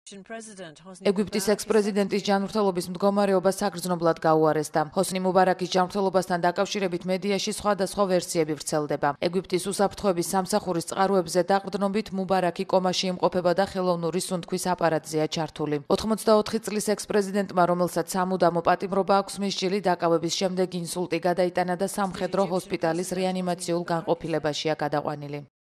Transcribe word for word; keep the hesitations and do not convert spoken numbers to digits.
ეგვიპტის ექს-პრეზიდენტის ჯანმრთელობის მდგომარეობა საგრძნობლად გაუარესდა. ჰოსნი მუბარაკის ჯანმრთელობასთან დაკავშირებით მედიაში სხვადასხვა ვერსიები ვრცელდება. ეგვიპტის უსაფრთხოების სამსახურის წყაროებზე დაყრდნობით მუბარაკი კომაში იმყოფება და ხელოვნური სუნთქვის აპარატზეა ჩართული. ოთხმოცდაოთხი წლის ექს-პრეზიდენტმა, რომელსაც სამუდამო პატიმრობა აქვს მისჯილი, დაკავების შემდეგ ინსულტი გადაიტანა და სამხედრო ჰოსპიტალის რეანიმაციულ განყოფილებაშია გადაყვანილი.